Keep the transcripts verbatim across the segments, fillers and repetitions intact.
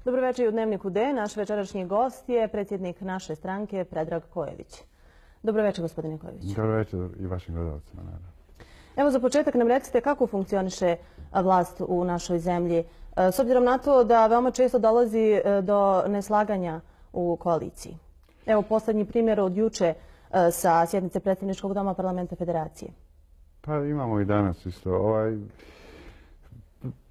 Dobro večer i u Dnevniku D. Naš večerašnji gost je predsjednik naše stranke Predrag Kojević. Dobro večer, gospodine Kojević. Dobro večer i vašim gledalcima. Evo, za početak nam recite kako funkcioniše vlast u našoj zemlji, s obzirom na to da veoma često dolazi do neslaganja u koaliciji. Evo, posljednji primjer od juče sa sjednice predsjedničkog doma Parlamenta Federacije. Pa imamo i danas isto. Ovaj...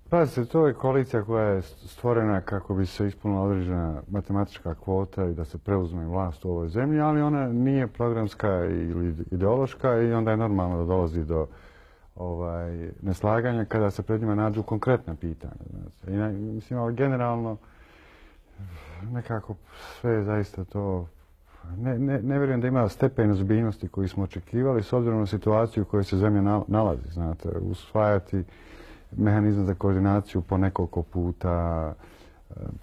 Pazite, to je koalicija koja je stvorena kako bi se ispunila određena matematička kvota i da se preuzme vlast u ovoj zemlji, ali ona nije programska ili ideološka i onda je normalno da dolazi do ovaj, neslaganja kada se pred njima nađu konkretna pitanja. Znači. I, mislim, ali generalno nekako sve je zaista to... Ne, ne, ne vjerujem da ima stepen ozbiljnosti koji smo očekivali s obzirom na situaciju u kojoj se zemlja nalazi. Znate, usvajati mehanizam za koordinaciju po nekoliko puta,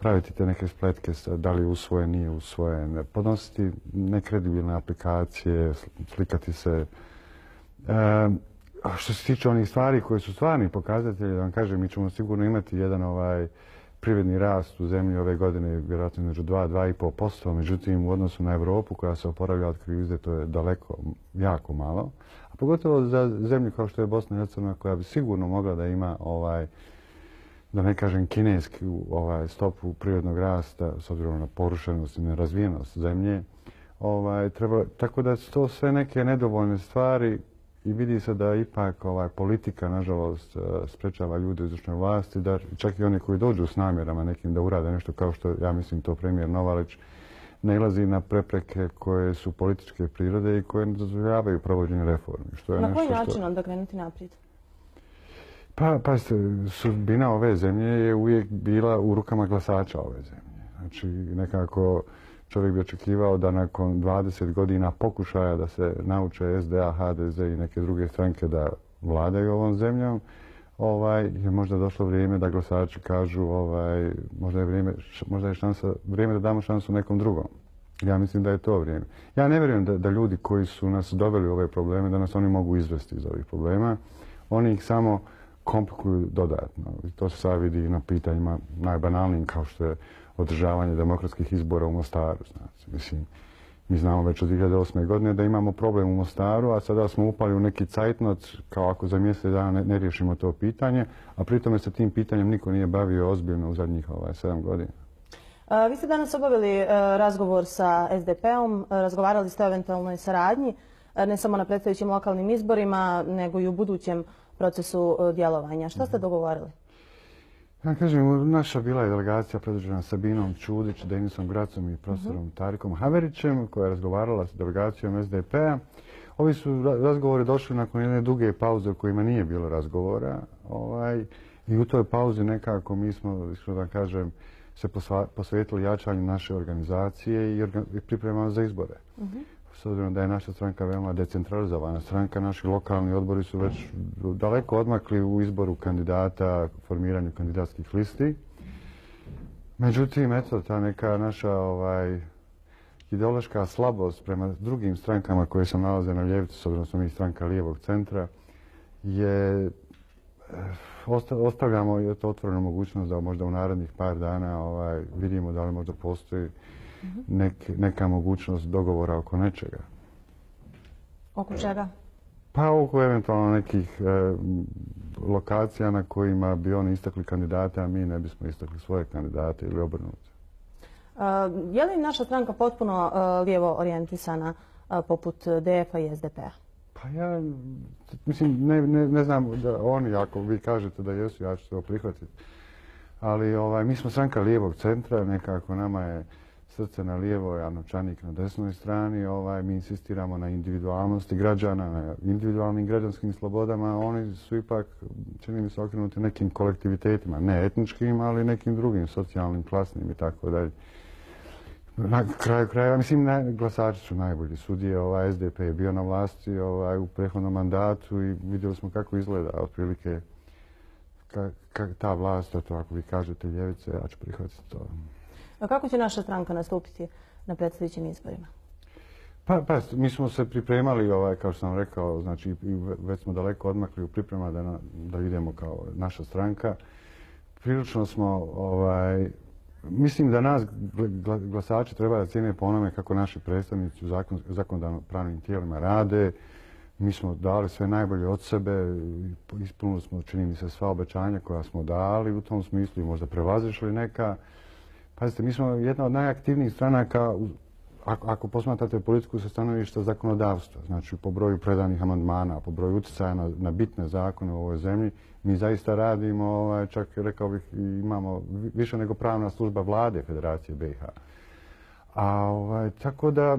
praviti te neke spletke da li je usvojen, nije usvojen, podnositi nekredibilne aplikacije, slikati se. E, što se tiče onih stvari koje su stvarni pokazatelji, da vam kažem, mi ćemo sigurno imati jedan ovaj privredni rast u zemlji ove godine, vjerojatno među dva do dva i pol posto, međutim u odnosu na Europu koja se oporavlja od krize, to je daleko, jako malo. A pogotovo za zemlju kao što je Bosna i Hercegovina koja bi sigurno mogla da ima, ovaj, da ne kažem kineski, ovaj, stopu prirodnog rasta s obzirom na porušenost i nerazvijenost zemlje. Ovaj, treba, tako da su to sve neke nedovoljne stvari i vidi se da ipak ovaj, politika, nažalost, sprečava ljude u izvršnoj vlasti, da čak i oni koji dođu s namjerama nekim da urade nešto kao što, ja mislim, to premijer Novalić, nailazi na prepreke koje su političke prirode i koje ne dozvoljavaju provođenje reformi. Što je na nešto koji način što... onda krenuti naprijed? Pa, pa sudbina ove zemlje je uvijek bila u rukama glasača ove zemlje. Znači, nekako čovjek bi očekivao da nakon dvadeset godina pokušaja da se nauče S D A, H D Z i neke druge stranke da vladaju ovom zemljom, ovaj, je možda došlo vrijeme da glasači kažu ovaj, možda je, vrijeme, možda je šansa, vrijeme da damo šansu nekom drugom. Ja mislim da je to vrijeme. Ja ne vjerujem da, da ljudi koji su nas doveli u ove probleme, da nas oni mogu izvesti iz ovih problema. Oni ih samo komplikuju dodatno. I to se sad vidi na pitanjima najbanalnijim kao što je održavanje demokratskih izbora u Mostaru. Znači, mislim, mi znamo već od dvije hiljade osme. godine da imamo problem u Mostaru, a sada smo upali u neki cajtnot kao ako za mjesec dana ne, ne riješimo to pitanje, a pritome se tim pitanjem niko nije bavio ozbiljno u zadnjih ovaj, sedam godina. A, vi ste danas obavili a, razgovor sa S D P-om, razgovarali ste o eventualnoj saradnji, a, ne samo na predstojećim lokalnim izborima, nego i u budućem procesu a, djelovanja. Šta ste dogovorili? Ja kažem, naša bila je delegacija predvođena Sabinom Čudić, Denisom Gracom i profesorom uh-huh. Tarikom Haverićem, koja je razgovarala s delegacijom S D P-a. Ovi su razgovori došli nakon jedne duge pauze u kojima nije bilo razgovora. Ovaj, I u toj pauzi nekako mi smo, što da kažem, se posvetili jačanju naše organizacije i, organ, i pripremamo za izbore. Uh-huh. S obzirom da je naša stranka veoma decentralizovana stranka, naši lokalni odbori su već daleko odmakli u izboru kandidata, formiranju kandidatskih listi. Međutim, eto, ta neka naša ovaj, ideološka slabost prema drugim strankama koje se nalaze na ljevici, s obzirom da smo mi stranka lijevog centra, je ostavljamo eto, otvorenu mogućnost da možda u narednih par dana ovaj, vidimo da li možda postoji Nek, neka mogućnost dogovora oko nečega. Oko čega? Pa oko eventualno nekih e, lokacija na kojima bi oni istakli kandidate, a mi ne bismo istakli svoje kandidate ili obrnuti. Uh, je li naša stranka potpuno uh, lijevo orijentisana uh, poput D F-a i S D P-a? Pa ja mislim, ne, ne, ne znam da oni, ako vi kažete da jesu, ja ću to prihvatiti. Ali ovaj, mi smo stranka lijevog centra, nekako nama je srce na lijevoj, a novčanik na desnoj strani. Ovaj, mi insistiramo na individualnosti građana, na individualnim građanskim slobodama. Oni su ipak, čini mi se, okrenuti nekim kolektivitetima, ne etničkim, ali nekim drugim, socijalnim, klasnim i tako dalje. Na kraju krajeva, mislim, ne, glasači su najbolji sudije. Ovaj, S D P je bio na vlasti ovaj, u prethodnom mandatu i vidjeli smo kako izgleda otprilike ka, ka, ta vlast, to ako vi kažete ljevice, ja ću prihvatiti to. A kako će naša stranka nastupiti na predstojećim izborima? Pa, pa, mi smo se pripremali, ovaj, kao što sam rekao, znači i već smo daleko odmakli u priprema da, na, da idemo kao naša stranka. Prilično smo ovaj, Mislim da nas glasači treba da cijene po onome kako naši predstavnici u zakonodavno-pravnim tijelima rade. Mi smo dali sve najbolje od sebe, ispunili smo, čini mi se, sva obećanja koja smo dali u tom smislu i možda prevazišli neka. Pazite, mi smo jedna od najaktivnijih stranaka, ako posmatrate politiku sa stanovišta zakonodavstva, znači po broju predanih amandmana, po broju utjecaja na, na bitne zakone u ovoj zemlji, mi zaista radimo, ovaj, čak rekao bih, imamo više nego pravna služba vlade Federacije B i H. A ovaj, tako da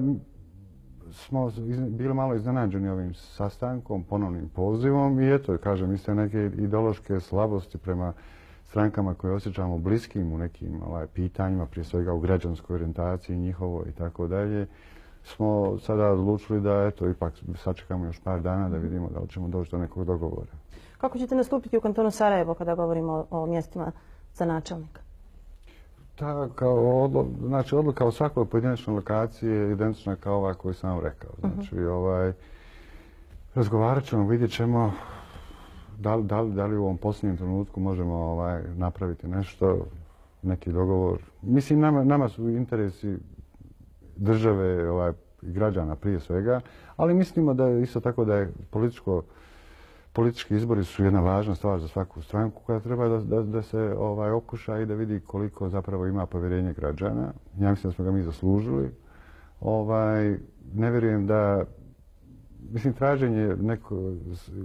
smo bili malo iznenađeni ovim sastankom, ponovnim pozivom i eto, kažem, iste neke ideološke slabosti prema strankama koje osjećamo bliskim u nekim ovaj, pitanjima, prije svega u građanskoj orijentaciji njihovoj i tako dalje, smo sada odlučili da eto, ipak sačekamo još par dana da vidimo da li ćemo doći do nekog dogovora. Kako ćete nastupiti u kantonu Sarajevo kada govorimo o, o mjestima za načelnika? Ta, kao odlo, znači, odluka o svakoj pojedinačnoj lokaciji je identična kao ova koju sam vam rekao. Znači, uh-huh. ovaj, razgovarat ćemo, vidjet ćemo da li, da li, da li u ovom posljednjem trenutku možemo ovaj, napraviti nešto, neki dogovor. Mislim, nama, nama su interesi države ovaj, i građana prije svega, ali mislimo da isto tako da je političko Politički izbori su jedna važna stvar za svaku stranku koja treba da, da, da se ovaj, okuša i da vidi koliko zapravo ima povjerenje građana. Ja mislim da smo ga mi zaslužili. Ovaj, ne vjerujem da, mislim, traženje neko,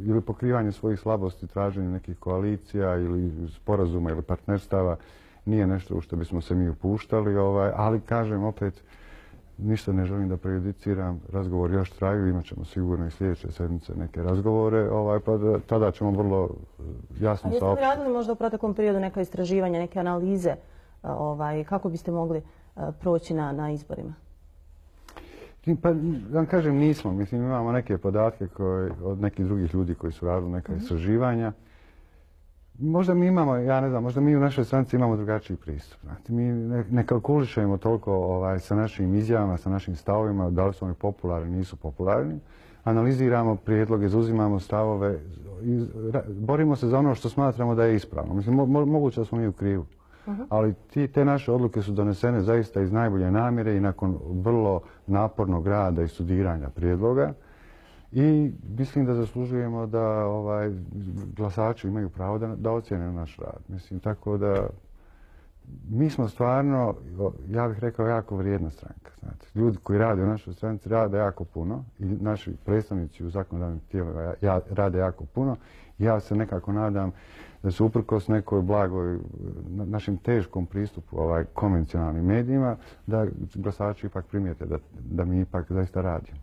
ili pokrivanje svojih slabosti, traženje nekih koalicija ili sporazuma ili partnerstava nije nešto u što bismo se mi upuštali, ovaj, ali kažem opet, ništa ne želim da prejudiciram, razgovor još traju, imat ćemo sigurno i sljedeće sedmice neke razgovore, ovaj, pa da, tada ćemo vrlo jasno saopštiti. A jeste li radili možda u proteklom periodu neka istraživanja, neke analize, ovaj, kako biste mogli proći na, na izborima? Pa, da vam kažem, nismo. Mislim, imamo neke podatke koje, od nekih drugih ljudi koji su radili neka mm-hmm. istraživanja. Možda mi imamo, ja ne znam, možda mi u našoj stranci imamo drugačiji pristup. Znate, mi ne, ne kalkulišemo toliko ovaj, sa našim izjavama, sa našim stavovima, da li su oni popularni, nisu popularni. Analiziramo prijedloge, zauzimamo stavove, i borimo se za ono što smatramo da je ispravno. Mislim, mo, moguće da smo mi u krivu. Uh-huh. Ali ti, te naše odluke su donesene zaista iz najbolje namjere i nakon vrlo napornog rada i studiranja prijedloga. I mislim da zaslužujemo da ovaj, glasači imaju pravo da, da ocjene naš rad. Mislim, tako da mi smo stvarno, ja bih rekao, jako vrijedna stranka. Znate. Ljudi koji rade u našoj stranci rade jako puno i naši predstavnici u zakonodavnim tijelima ja, rade jako puno. Ja se nekako nadam da se uprkos nekoj blagoj, našem teškom pristupu ovaj, konvencionalnim medijima, da glasači ipak primijete da, da mi ipak zaista radimo.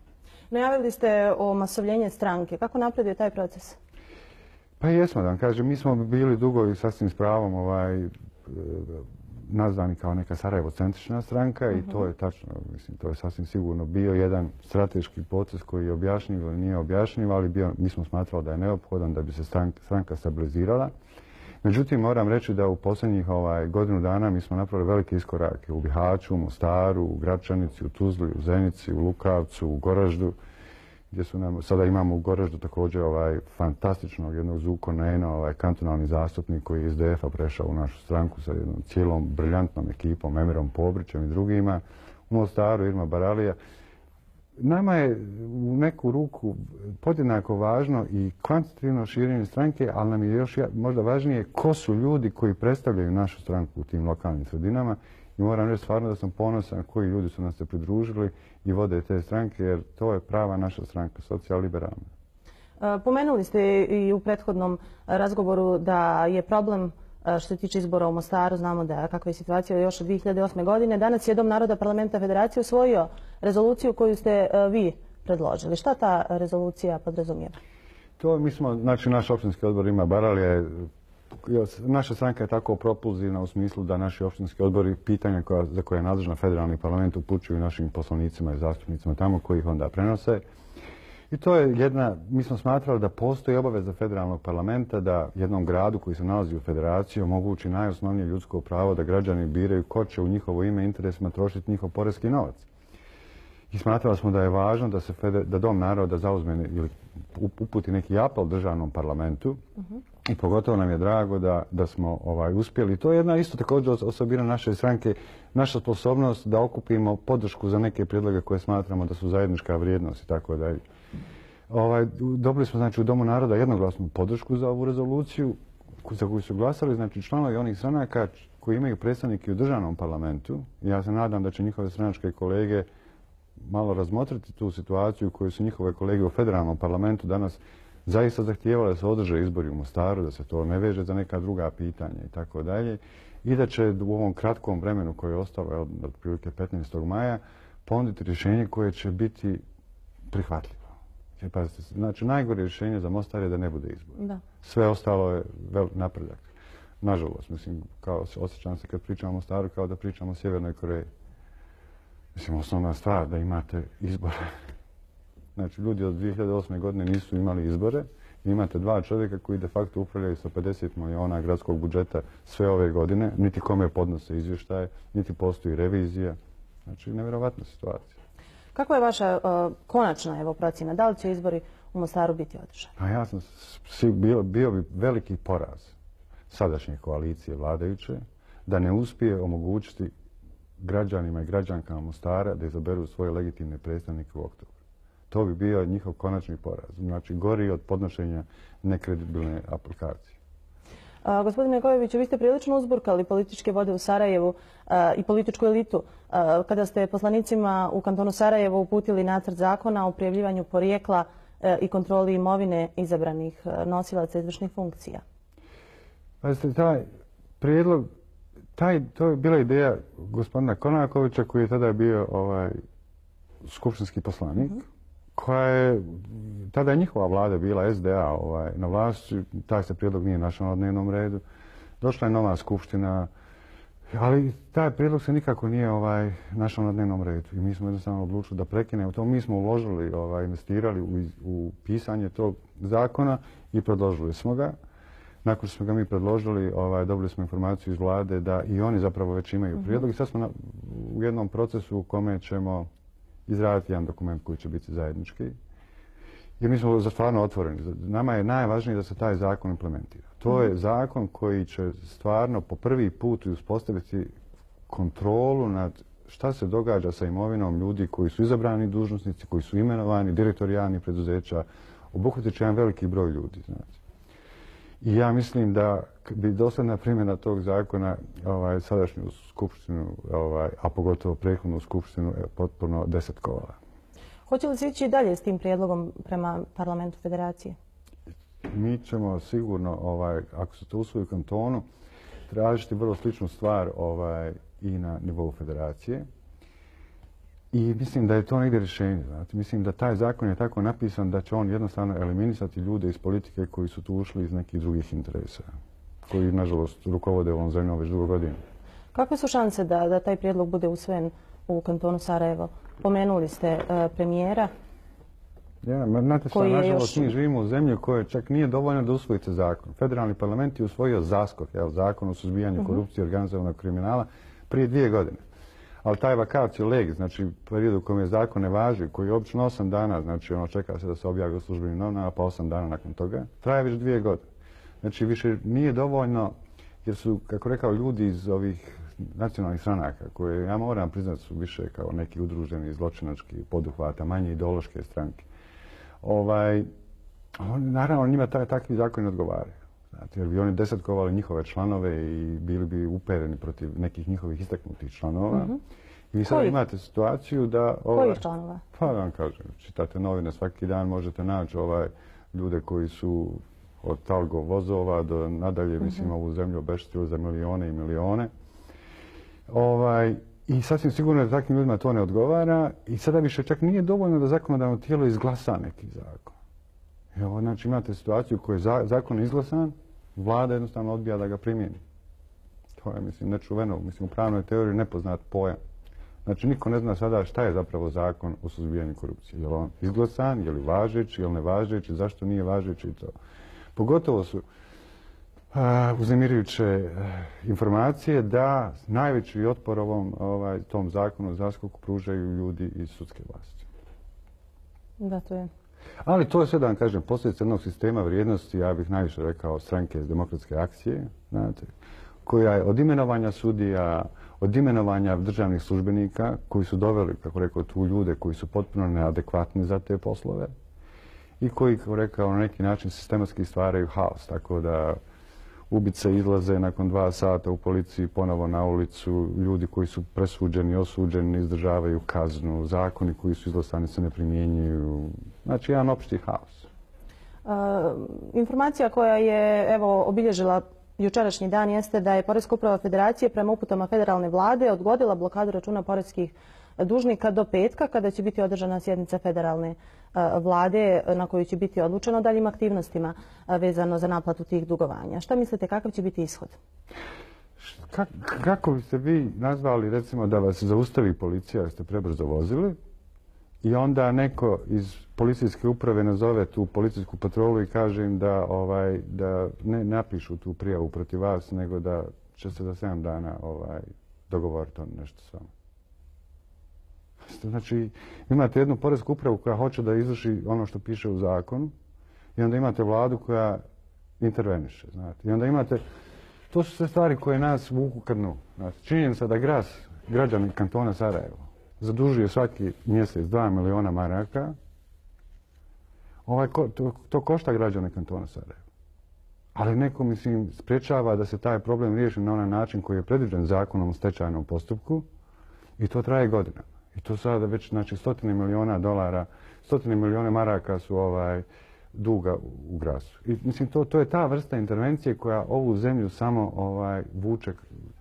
Najavili ste o masovljenju stranke. Kako napreduje taj proces? Pa jesmo, da vam kažem. Mi smo bili dugo i sasvim s pravom ovaj, nazvani kao neka Sarajevo-centrična stranka uh-huh. i to je tačno, mislim, to je sasvim sigurno bio jedan strateški proces koji je objašnjiv ili nije objašnjiv, ali bio, mi smo smatrali da je neophodan da bi se stranka, stranka stabilizirala. Međutim, moram reći da u posljednjih ovaj, godinu dana mi smo napravili velike iskorake u Bihaću, u Mostaru, u Gračanici, u Tuzli, u Zenici, u Lukavcu, u Goraždu, gdje su nam, sada imamo u Goraždu također ovaj, fantastičnog jednog Zuko Nena, ovaj, kantonalni zastupnik koji je iz D F-a prešao u našu stranku sa jednom cijelom briljantnom ekipom, Emirom Pobrićem i drugima, u Mostaru Irma Baralija. Nama je u neku ruku podjednako važno i kvantitativno širenje stranke, ali nam je još možda važnije ko su ljudi koji predstavljaju našu stranku u tim lokalnim sredinama. I moram reći stvarno da sam ponosan koji ljudi su nas se pridružili i vode te stranke, jer to je prava naša stranka, socijal-liberalna. Pomenuli ste i u prethodnom razgovoru da je problem što se tiče izbora u Mostaru, znamo da kakva je situacija još od dvije hiljade osme. godine. Danas je Dom naroda parlamenta Federacije usvojio rezoluciju koju ste vi predložili. Šta ta rezolucija podrazumijeva? To mi smo, znači naš opštinski odbor ima Baralija. Naša stranka je tako propulzivna u smislu da naši opštinski odbori pitanja koja, za koje je nadležna federalni parlament upućuju našim poslanicima i zastupnicima tamo koji ih onda prenose. I to je jedna, mi smo smatrali da postoji obaveza federalnog parlamenta da jednom gradu koji se nalazi u federaciji omogući najosnovnije ljudsko pravo da građani biraju ko će u njihovo ime i interesima trošiti njihov porezki novac. I smatrali smo da je važno da se feder, da Dom naroda zauzme ili uputi neki apel državnom parlamentu uh-huh. I pogotovo nam je drago da, da smo ovaj, uspjeli. To je jedna isto također osobina naše stranke, naša sposobnost da okupimo podršku za neke prijedloge koje smatramo da su zajednička vrijednost i tako dalje. Ovaj, dobili smo znači, u Domu naroda jednoglasnu podršku za ovu rezoluciju za koju su glasali znači, članovi onih stranaka koji imaju predstavnike u državnom parlamentu. Ja se nadam da će njihove stranačke kolege malo razmotriti tu situaciju koju su njihove kolege u federalnom parlamentu danas zaista zahtijevali da se održe izbori u Mostaru, da se to ne veže za neka druga pitanja i tako dalje. I da će u ovom kratkom vremenu koje je ostalo, od otprilike petnaestog maja, ponuditi rješenje koje će biti prihvatljivo. Jer, pazite, znači, najgore rješenje za Mostar je da ne bude izbor. Da. Sve ostalo je vel napredak. Nažalost, mislim, kao osjećam se kad pričamo o Mostaru kao da pričamo o Sjevernoj Koreji. Mislim, osnovna stvar da imate izbore. Znači, ljudi od dvije hiljade osme. godine nisu imali izbore. Imate dva čovjeka koji de facto upravljaju sa pedeset milijuna gradskog budžeta sve ove godine. Niti kome podnose izvještaje, niti postoji revizija. Znači, nevjerovatna situacija. Kakva je vaša uh, konačna evo, procjena? Da li će izbori u Mostaru biti održani? A ja sam si, bio, bio bi veliki poraz sadašnje koalicije vladajuće da ne uspije omogućiti građanima i građankama Mostara da izaberu svoje legitimne predstavnike u oktobru. To bi bio njihov konačni poraz. Znači, gori od podnošenja nekredibilne aplikacije. A, gospodine Kojoviću, vi ste prilično uzburkali političke vode u Sarajevu a, i političku elitu a, kada ste poslanicima u kantonu Sarajevo uputili nacrt zakona o prijavljivanju porijekla a, i kontroli imovine izabranih a, nosilaca izvršnih funkcija. Pazite, taj prijedlog, taj, to je bila ideja gospodina Konakovića koji je tada bio ovaj, skupštinski poslanik. Mm-hmm. koja je, tada je njihova vlada bila S D A ovaj, na vlasti, taj se prijedlog nije našao na dnevnom redu. Došla je nova skupština, ali taj prijedlog se nikako nije ovaj, našao na dnevnom redu. I mi smo jednostavno odlučili da prekinemo to. Mi smo uložili, ovaj, investirali u, u pisanje tog zakona i predložili smo ga. Nakon što smo ga mi predložili, ovaj, dobili smo informaciju iz vlade da i oni zapravo već imaju prijedlog. I sad smo na, u jednom procesu u kome ćemo izraditi jedan dokument koji će biti zajednički. Jer mi smo stvarno otvoreni. Nama je najvažnije da se taj zakon implementira. To je zakon koji će stvarno po prvi put uspostaviti kontrolu nad šta se događa sa imovinom ljudi koji su izabrani dužnosnici, koji su imenovani, direktori javnih preduzeća. Obuhvatit će jedan veliki broj ljudi. Znači. I ja mislim da bi dosadna primjena tog zakona ovaj, sadašnju skupštinu, ovaj, a pogotovo prethodnu skupštinu, je potpuno desetkovala. Hoće li se ići dalje s tim prijedlogom prema parlamentu federacije? Mi ćemo sigurno, ovaj, ako se to usvoji u kantonu, tražiti vrlo sličnu stvar ovaj, i na nivou federacije. I mislim da je to negdje rješenje. Znate. Mislim da taj zakon je tako napisan da će on jednostavno eliminisati ljude iz politike koji su tu ušli iz nekih drugih interesa, koji, nažalost, rukovode ovom zemljom već dugo godina. Kakve su šanse da, da taj prijedlog bude usvojen u kantonu Sarajevo? Pomenuli ste uh, premijera. Ja, znate šta, nažalost, još... mi živimo u zemlji u kojoj čak nije dovoljno da usvojite zakon. Federalni parlament je usvojio zaskok, evo, zakon o suzbijanju uh-huh. korupcije i organizovanog kriminala prije dvije godine. Ali taj vacatio legis, znači period u kojem je zakon ne važi, koji je obično osam dana, znači ono čeka se da se objavi u službenim novinama, pa osam dana nakon toga, traje već dvije godine. Znači više nije dovoljno, jer su, kako rekao, ljudi iz ovih nacionalnih stranaka, koje ja moram priznati su više kao neki udruženi zločinački poduhvata, manje ideološke stranke. Ovaj, on, naravno, njima taj, takvi zakoni odgovaraju. Znate, jer bi oni desetkovali njihove članove i bili bi upereni protiv nekih njihovih istaknutih članova. Mm-hmm. I vi sad Koji? imate situaciju da... Ovaj, Kojih članova? Pa da vam kažem, čitate novine svaki dan, možete naći ovaj, ljude koji su od talgo vozova do nadalje, mm-hmm. mislim, ovu zemlju obeštetili za milione i milione. Ovaj, I sasvim sigurno da takvim ljudima to ne odgovara i sada više čak nije dovoljno da zakonodavno tijelo izglasa neki zakon. Evo, znači imate situaciju u kojoj je zakon izglasan, vlada jednostavno odbija da ga primjeni. To je, mislim, nečuveno. Mislim, u pravnoj teoriji nepoznat pojam. Znači, niko ne zna sada šta je zapravo zakon o suzbijanju korupcije. Je li on izglasan, je li važeći, je li nevažeći, zašto nije važeći i to. Pogotovo su uh, uznemirujuće uh, informacije da najveći otpor ovom ovaj, tom zakonu o zaskoku pružaju ljudi iz sudske vlasti. Da, to je. Ali to je sve, da vam kažem, posljedica jednog sistema vrijednosti, ja bih najviše rekao stranke iz demokratske akcije, znate, koja je od imenovanja sudija, od imenovanja državnih službenika koji su doveli, kako rekao, tu ljude koji su potpuno neadekvatni za te poslove i koji, kako rekao, na neki način sistematski stvaraju haos. Tako da ubice izlaze nakon dva sata u policiji ponovo na ulicu, ljudi koji su presuđeni, osuđeni, izdržavaju kaznu, zakoni koji su izglasani se ne primjenjuju. Znači, jedan opšti haos. Uh, informacija koja je evo obilježila jučerašnji dan jeste da je Poreska uprava Federacije prema uputama federalne vlade odgodila blokadu računa poreskih dužnika do petka, kada će biti održana sjednica federalne vlade na kojoj će biti odlučeno o daljim aktivnostima vezano za naplatu tih dugovanja. Šta mislite, kakav će biti ishod? Kako biste vi nazvali, recimo, da vas zaustavi policija jer ste prebrzo vozili i onda neko iz policijske uprave nazove tu policijsku patrolu i kaže im da, ovaj, da ne napišu tu prijavu protiv vas, nego da će se za sedam dana ovaj, dogovoriti on nešto s vama. Znači, imate jednu poresku upravu koja hoće da izvrši ono što piše u zakonu i onda imate vladu koja interveniše, znate. I onda imate, to su sve stvari koje nas vuku ka dnu. Činjenica da gras, građani kantona Sarajevo, zadužuje svaki mjesec dva miliona maraka, ovaj, to, to košta građane kantona Sarajevo. Ali neko, mislim, spriječava da se taj problem riješi na onaj način koji je predviđen zakonom o stečajnom postupku i to traje godinama. I to sada već, znači, stotine miliona dolara, stotine miliona maraka su ovaj, duga u grasu. I, mislim, to, to je ta vrsta intervencije koja ovu zemlju samo ovaj, vuče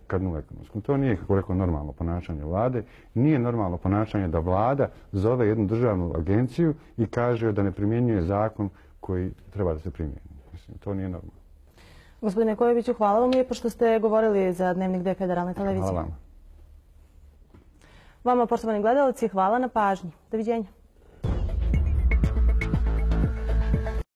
ka dnu ekonomskom. To nije, kako rekao, normalno ponašanje vlade. Nije normalno ponašanje da vlada zove jednu državnu agenciju i kaže da ne primjenjuje zakon koji treba da se primijeni. Mislim, to nije normalno. Gospodine Kojoviću, hvala vam lijepo što ste govorili za Dnevnik D Federalne televizije. Hvala vam. Vama, poštovani gledalci, hvala na pažnji. Doviđenja.